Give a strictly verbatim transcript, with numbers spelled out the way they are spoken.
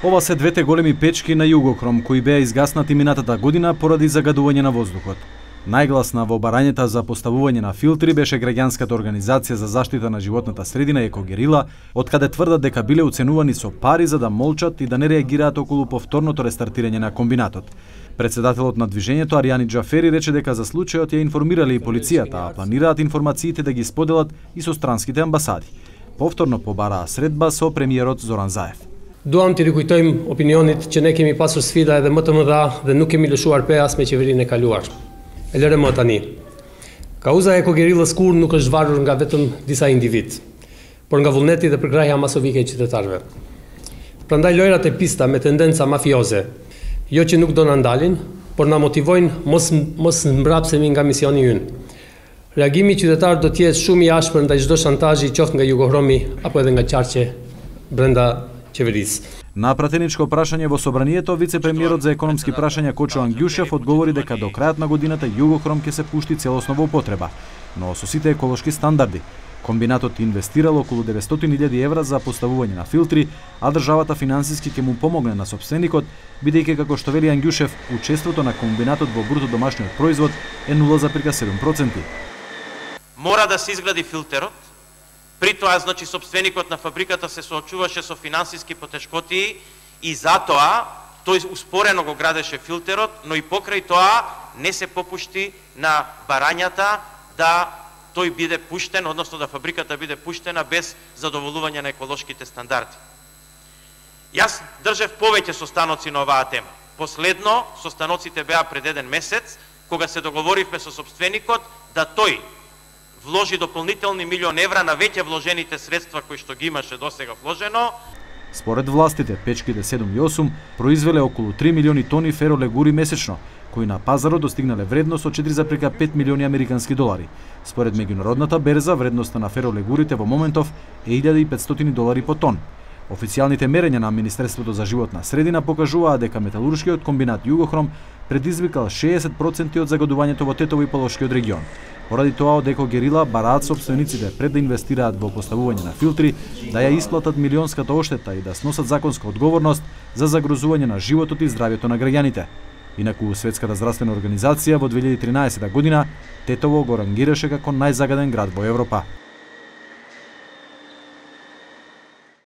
Ова се двете големи печки на Југохром кои беа изгаснати минатата година поради загадување на воздухот. Најгласна во барањата за поставување на филтри беше граѓанската организација за заштита на животната средина Екогерила, откаде тврдат дека биле уценувани со пари за да молчат и да не реагираат околу повторното рестартирање на комбинатот. Председателот на движењето Аријани Џафери рече дека за случајот ја информирале и полицијата, а планираат информациите да ги споделат и со странските амбасади. Повторно побараа средба со премиерот Зоран Заев. Duam të rikujtojmë opinionit që ne kemi pasur sfida edhe më të mëdha dhe nuk kemi lëshuar peas me qeverinë e kaluar. E lëre më tani. Kauza e Ekogerillës kur nuk është zvarur nga vetëm disa individ, por nga vullneti dhe përkrahja masovike e qytetarëve. Prandaj lojrat e pista me tendenca mafioze, jo që nuk do na ndalin, por na motivojnë mos mos mbrapsemi nga misioni ynë. Reagimi qytetar do të jetë shumë i ashpër ndaj çdo shantazhi qoftë nga Jugohromi apo edhe nga qarqe brenda qeverisë. На пратеничко прашање во собранието, вице-премиерот за економски прашања Кочо Ангјушев одговори дека до крајот на годината Југохром ќе се пушти целосно во употреба, но со сите еколошки стандарди. Комбинатот инвестирал околу деветстотини илјади евра за поставување на филтри, а државата финансиски ќе му помогне на сопственикот, бидејќи како што вели Ангјушев, учеството на комбинатот во бруто домашниот производ е нула зарез седум проценти. Мора да се изгради филтерот. При тоа, значи, собственикот на фабриката се соочуваше со финансиски потешкоти и затоа тој успорено го градеше филтерот, но и покрај тоа не се попушти на барањата да тој биде пуштен, односно да фабриката биде пуштена без задоволување на еколошките стандарди. Јас држев повеќе состаноци на оваа тема. Последно, состаноците беа пред еден месец, кога се договоривме со собственикот да тој вложи дополнителни милион евра на веќе вложените средства кои што ги имаше досега вложено. Според властите, печките седум и осум произвеле околу три милиони тони феролегури месечно, кои на пазарот достигнале вредност од четири зарез пет милиони американски долари. Според меѓународната берза, вредноста на феролегурите во моментов е илјада и петстотини долари по тон. Официјалните мерења на Министерството за животна средина покажуваат дека металуршкиот комбинат Југохром предизвикал шеесет проценти од загадувањето во Тетово и Полошкиот регион. Поради тоа од Екогерила бараат сопствениците пред да инвестираат во поставување на филтри, да ја исплатат милионската оштета и да сносат законска одговорност за загрозување на животот и здравјето на граѓаните. Инаку Светската здравствена организација во две илјади и тринаесета година Тетово го рангираше како најзагаден град во Европа.